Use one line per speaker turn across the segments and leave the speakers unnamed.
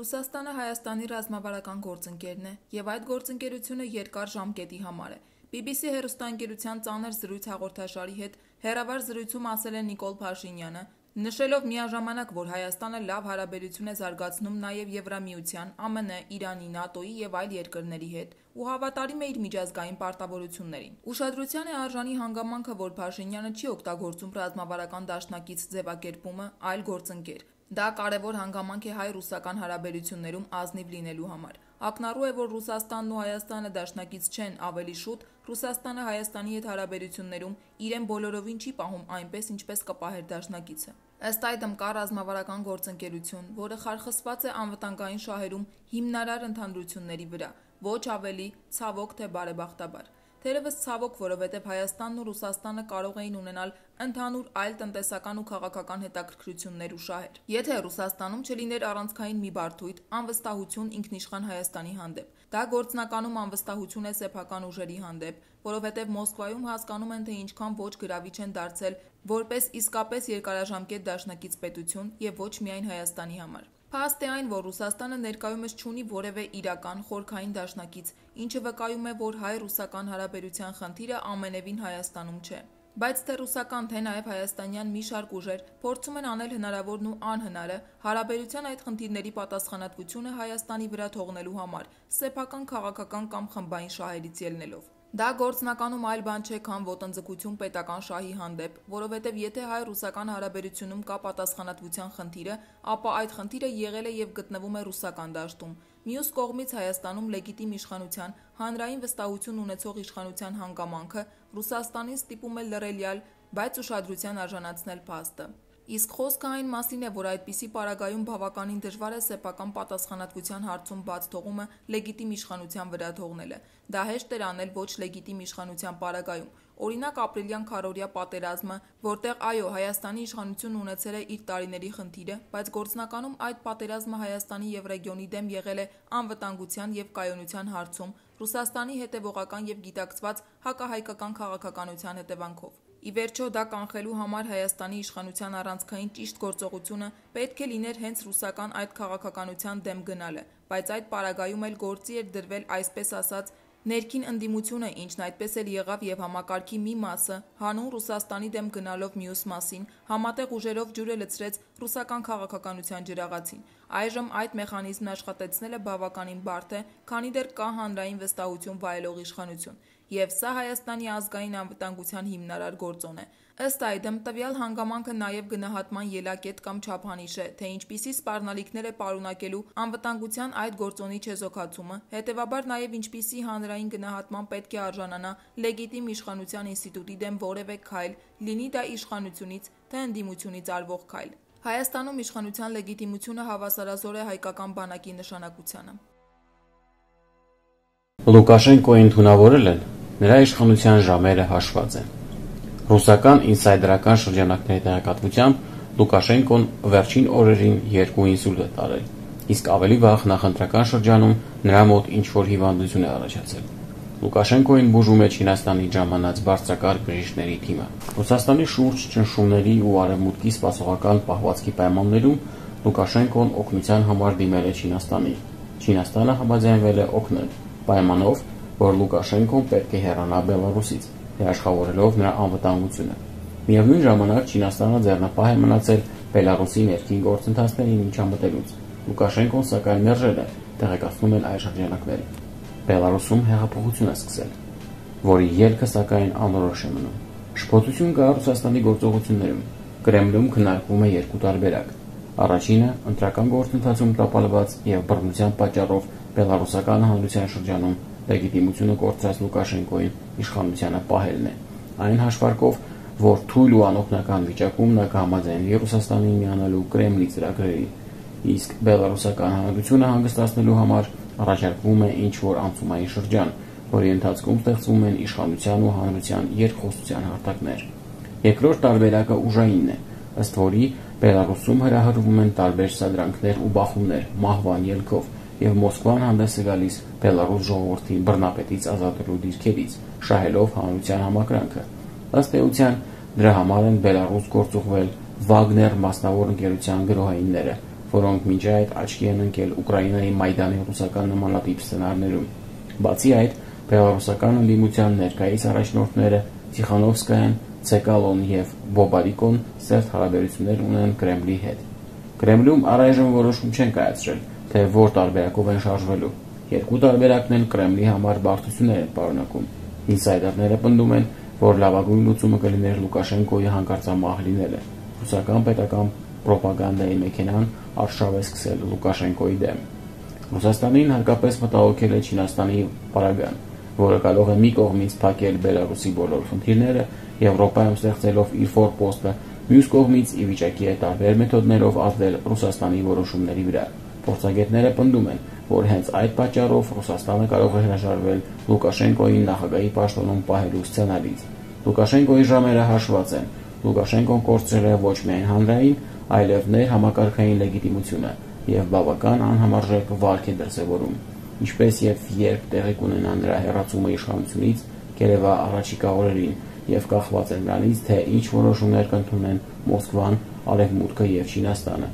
Ռուսաստանը Հայաստանի ռազմավարական գործընկերն է և այդ գործընկերությունը երկար ժամկետի համար է։ BBC հեռուստաընկերության ծանր զրույց հաղորդաշարի հետ հեռավար զրույցում ասել է Նիկոլ Փաշինյանը, նշելով միաժամանակ, որ Հայաստանը լավ հարաբերություն է զարգացնում նաև Եվրամիության, ԱՄՆ, Իրանի, ՆԱՏՕ-ի և այլ երկրների հետ ու հավատարիմ է իր միջազգային պարտավորություններին։ Ուշադրության է արժանի հանգամանքը, որ Փաշինյանը չի օգտագործում ռազմավարական դաշնակից ձևակերպումը, այլ գործընկեր։ Դա կարևոր հանգամանք է հայ-ռուսական հարաբերություններում ազնիվ լինելու համար։ Ակնառու է, որ Ռուսաստանն ու Հայաստանը դաշնակից չեն, ավելի շուտ Ռուսաստանը Հայաստանի հետ հարաբերություններում իրեն բոլորովին չի պահում այնպես, ինչպես կպահեր դաշնակիցը։ Ըստ այդմ կա ռազմավարական գործընկերություն, որը խարխսված է անվտանգային շահերում հիմնարար ընդհանրությունների վրա, ոչ ավելի, ցավոք թե բարեբախտաբար։ Թերևս ցավոք, որովհետև Հայաստանն ու Ռուսաստանը կարող էին ունենալ ընդհանուր այլ տնտեսական ու քաղաքական հետաքրքրություններ ու շահեր։ Եթե Ռուսաստանում չլիներ առանցքային մի բարդույթ, անվստահություն ինքնիշխան Հայաստանի հանդեպ։ Դա գործնականում անվստահություն է սեփական ուժերի հանդեպ, որովհետև Մոսկվայում հասկանում են, թե ինչքան ոչ գրավիչ են դարձել որպես իսկապես երկարաժամկետ դաշնակից պետություն եւ ոչ միայն Հայաստանի համար։ Փաստ է այն, որ Ռուսաստանը ներկայումս չունի որևէ իրական խորքային դաշնակից, ինչը վկայում է, որ հայ-ռուսական հարաբերության խնդիրը ամենևին Հայաստանում չէ։ Բայց թե ռուսական, թե նաև հայաստանյան մի շարք ուժեր փորձում են անել հնարավորն ու անհնարը հարաբերության այդ խնդիրների պատասխանատվությունը Հայաստանի վրա թողնելու համար, սեփական քաղաքական կամ խմբային շահերից ելնելով։ Դա գործնականում այլ բան չէ, քան ոտնձգություն պետական շահի հանդեպ, որովհետև եթե հայ-ռուսական հարաբերությունում կա պատասխանատվության խնդիրը, ապա այդ խնդիրը եղել է և գտնվում է ռուսական դաշտում։ Մյուս կողմից Հայաստանում լեգիտիմ իշխանության, հանրային վստահություն ունեցող իշխանության հանգամանքը Ռուսաստանին ստիպում է լռելյալ, բայց ուշադրության արժանացնել փաստը։ Իսկ խոսքը այն մասին է, որ այդպիսի պարագայում բավականին դժվար է սեփական պատասխանատվության հարցում բաց թողումը լեգիտիմ իշխանության վրա թողնելը։ Դա հեշտ էր անել ոչ լեգիտիմ իշխանության պարագայում։ Օրինակ ապրիլյան քարոզիա պատերազմը, որտեղ այո, Հայաստանի իշխանությունն ունեցել է իր տարիների խնդիրը, բայց գործնականում այդ պատերազմը Հայաստանի և ռեգիոնի դեմ եղել է անվտանգության և կայունության հարցում Ռուսաստանի հետևողական և գիտակցված հակահայկական քաղաքականության հետևանքով։ Ի վերջո դա կանխելու համար Հայաստանի իշխանության առանցքային ճիշտ գործողությունը պետք է լիներ հենց ռուսական այդ քաղաքականության դեմ գնալը, բայց այդ պարագայում էլ գործի էր դրվել այսպես ասած ներքին ընդդիմությունը, ինչն այդպես էլ եղավ և համակարգի մի մասը, հանուն Ռուսաստանի դեմ գնալով մյուս մասին, համատեղ ուժերով ջուրը լցրեց ռուսական քաղաքականության ջրաղացին։ Այժմ այդ մեխանիզմն աշխատեցնելը բավականին բարդ է, քանի դեռ կա հանրային վստահություն վայելող իշխանություն, և սա Հայաստանի ազգային անվտանգության հիմնարար գործոն է։ Ըստ այդմ, տվյալ հանգամանքը նաև գնահատման ելակետ կամ չափանիշ է, թե ինչպիսի սպառնալիքներ է պարունակելու անվտանգության այդ գործոնի չեզոքացումը, հետևաբար նաև ինչպիսի հանրային գնահատման պետք է արժանանա լեգիտիմ իշխանության ինստիտուտի դեմ որևէ քայլ, լինի դա իշխանությունից, թե ընդդիմությունից արվող քայլ։ Հայաստանում իշխանության լեգիտիմությունը հավասարազոր է հայկական բանակի նշանակությանը։
Լուկաշենկոին թունավորել են, նրա իշխանության ժամերը հաշված են։ Ռուսական ինսայդերական շրջանակների տեղեկատվությամբ Լուկաշենկոն վերջին օրերին 2 ինսուլտ է տարել, իսկ ավելի վաղ նախընտրական շրջանում նրա մոտ ինչ-որ հիվանդություն է առաջացել։ Լուկաշենկոին բուժում է Չինաստանի ժամանած բարձրակարգ բժիշկների թիմը։ Ռուսաստանի շուրջ ճնշումների ու արևմուտքի սպասողական պահվածքի պայմաններում Լուկաշենկոն օգնության համար դիմել է Չինաստանին։ Չինաստանը համաձայնվել է օգնել, պայմանով, որ Լուկաշենկոն պետք է հեռանա Բելարուսից, երաշխավորելով նրա անվտանգությունը։ Միևնույն ժամանակ Չինաստանը ձեռնապահ է մնացել Բելարուսի ներքին գործընթացներին միջամտելուց։ Լուկաշենկոն սակայն մերժել է, տեղեկացնում են այլ շրջանակները։ Բելարուսում հեղափոխություն է սկսել, որի ելքը սակայն անորոշ է մնում։ Շփոթություն կա Ռուսաստանի գործողություններում։ Կրեմլում քննարկվում է 2 տարբերակ։ Առաջինը ընտրական գործընթացում տապալված եւ բռնության պատճառով Բելարուսական հանրության շրջանում լեգիտիմությունը կորցրած Լուկաշենկոին իշխանությանը պահելն է։ Այն հաշվարկով, որ թույլ ու անօգնական վիճակում նա կհամաձայնվի Ռուսաստանին միանալու Կրեմլի ծրագրերին, իսկ Բելարուսական հանրությունը հանգստացնելու համար առաջարկվում է ինչ-որ անցումային շրջան, որի ընթացքում ստեղծվում են իշխանության ու հանրության երկխոսության հարթակներ։ Երկրորդ տարբերակը ուժայինն է, ըստ որի Բելարուսում հրահրվում են տարբեր սադրանքներ ու բախումներ մահվան ելքով, և Մոսկվան հանդես է գալիս Բելարուս ժողովրդին բռնապետից ազատելու դիրքերից, շահելով հանրության համակրանքը։ Ըստ էության, դրա համար են Բելարուս գործուղվել Վագներ մասնավոր ընկերության գրոհայինները, որոնք մինչ այդ աչքի են ընկել Ուկրաինայի Մայդանի ռուսական նմանատիպ սցենարներում։ Բացի այդ, բելառուսական ընդդիմության ներկայիս առաջնորդները Տիխանովսկայան, Ցեկալոն եւ Բոբարիկոն սերտ հարաբերություններ ունեն Կրեմլի հետ։ Կրեմլում առայժմ որոշում չեն կայացրել, թե որ տարբերակով են շարժվելու։ Երկու տարբերակն էլ Կրեմլի համար բարդություններ են պարունակում։ Ինսայդերները պնդում են, որ լավագույն լուծումը կլիներ Լուկաշենկոյի հանկարծամահ լինելը։ Ռուսական պետական պրոպագանդայի մեքենան արշավ է սկսել Լուկաշենկոյի դեմ։ Ռուսաստանին հարկապես մտահոգել է Չինաստանի պարագան, որը կարող է մի կողմից փակել Բելարուսի բոլոր խնդիրները, Եվրոպայում ստեղծելով իր ֆորպոստը, մյուս կողմից ի վիճակի է տարբեր մեթոդներով ազդել Ռուսաստանի որոշումների վրա։ Փորձագետները պնդում են, որ հենց այդ պատճառով Ռուսաստանը կարող է հրաժարվել Լուկաշենկոյին նախագահի պաշտոնում պահելու սցենարից։ Լուկաշենկոյի ժամերը հաշված են։ Լուկաշենկոն կորցրել է ոչ միայն հանրային, այլև ներհամակարգային լեգիտիմությունը եւ բավական անհամարժեք վարք է դրսեւորում, ինչպես եւ երբ տեղի կունենա նրա հեռացումը իշխանությունից, կերևա առաջիկա օրերին եւ կախված է նրանից, թե ինչ որոշումներ կընդունեն Մոսկվան, Արևմուտքը եւ Չինաստանը։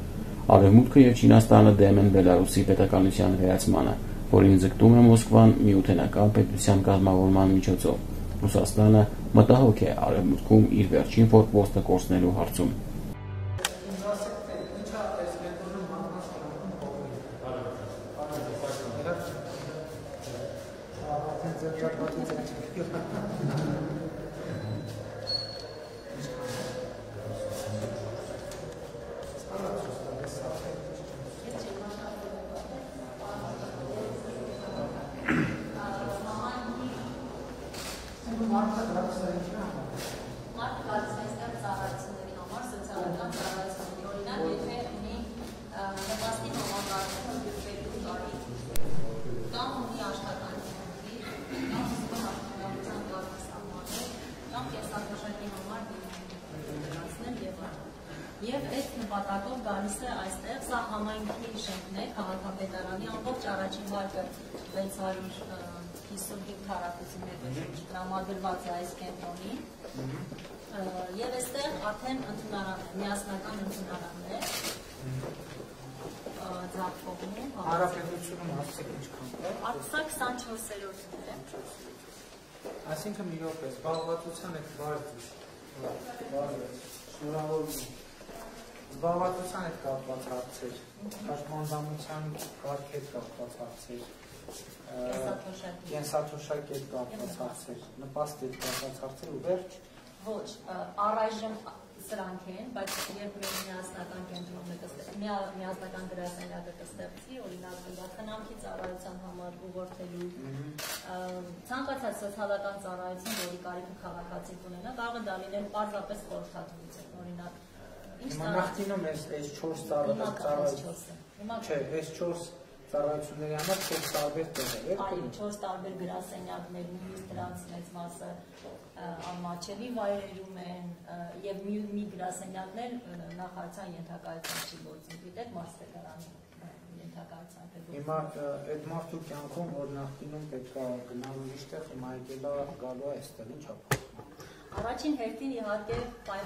Արևմուտքը եւ Չինաստանը դեմ են Բելարուսի պետականության վերացմանը, որին ձգտում է Մոսկվան միութենական պետության կազմավորման միջոցով։ Ռուսաստանը մտահոգ է Արևմուտքում իր վերջին ֆորպոստը կորցնելու հարցում։
Մարդը գալիս ծառայությունների համար, սոցիալական ծառայությունների, օրինակ, եթե ունի նպաստի համակարգում բյուջետի տարի, կամ ունի աշխատանքի, կամ զգոն աշխատանքության կարգ սահմանել, կամ կենսաթոշակի համար դրանցնել եւ այլն։ Եվ այդ նպատակով գալիս է այստեղ, սա համայնքի շենքն է, քաղաքապետարանի ամբողջ առաջին վարկը 655 քառակուսի տրամադրված է այս կենտրոնին եւ այստեղ արդեն ընդունարան է, միասնական ընդունարանն է ձախողում
Հարաբերությունում հասցեք ինչքան կա։
Արտսա 24-րդն է։
Այսինքն մի րոպե, զբաղվածության հետ բարձր։ Շնորհավորություն։ Զբաղվածության հետ կապված հարցեր, պաշտպանության կարգ հետ կապված հարցեր, կենսաթոշակի հետ կապված հարցեր, նպաստի հետ կապված հարցեր ու վերջ։
Ոչ, առայժմ սրանք են, բայց երբ մեր միասնական կենտրոնը միասնական գրասենյակը կստեղծվի, օրինակ խնամքի ծառայության համար ուղղորդելու ցանկացած սոցիալական ծառայություն, որի կարիքը քաղաքացին ունենա, կարող է դա լինել պարզապես խորհրդատվություն, օրինակ
Հիմա նախկինում այս 4 ծառայություն։ Չէ, այս 4 ծառայությունների համար 4 տարբեր տեղեր է։
Այո, 4 տարբեր գրասենյակներ, նույնիսկ դրանց մեծ մասը անմաչելի վայրերում են եւ մի գրասենյակներ նախարարության ենթակայության չի գործում, գիտեք, մարզպետարանի ենթակայության է գործում։
Հիմա այդ մարդու կյանքում, որ նախկինում պետք է գնալու իշխտեղ, հիմա եկելա գալու է այստեղ, ի՞նչ է։
Առաջին հերթին իհարկե